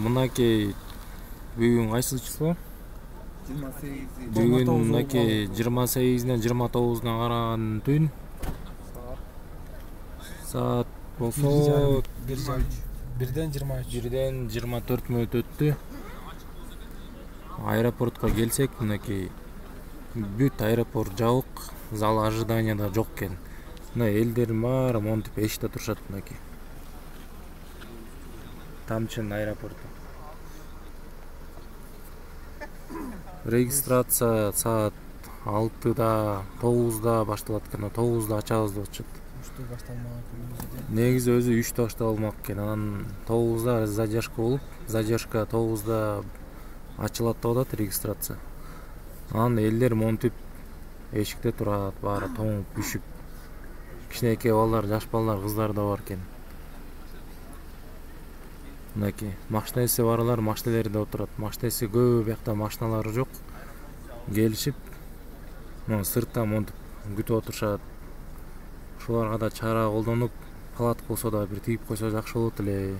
Мынакей бүгүн кайсы число? 28. Бүгүн мынакей 28-ден 29-уна караган түн. Саат болсо 1-ден 1-24 өттү. Аэропортко келсек, мынакей бүт аэропорт жабык, зал ожиданияда жок экен. Мына элдердин баары монтип эшикте турушат мынакей. Тамчын аэропорту. Регистрация саат 6-да, 9-да башталат экен, 9-да ачабыз деп атышат. Негизи өзү 3-тө башталмак экен, анан 9-да задержка болуп, задержка 9-да ачылат деп атат регистрация. Анан элдер монтип эшикте турат, баары тоңуп, үшүп. Кичинекей балдар, жаш балдар, кыздар да бар экен. Мынакей машинеси барлар машинелерде отурат. Машинеси көп, биякта машиналары жок. Келишип, сыртта монтип күтүп отурушат. Ушуларга да чара колдонуп, палатка болсо да бир тигип койсо жакшы болот эле.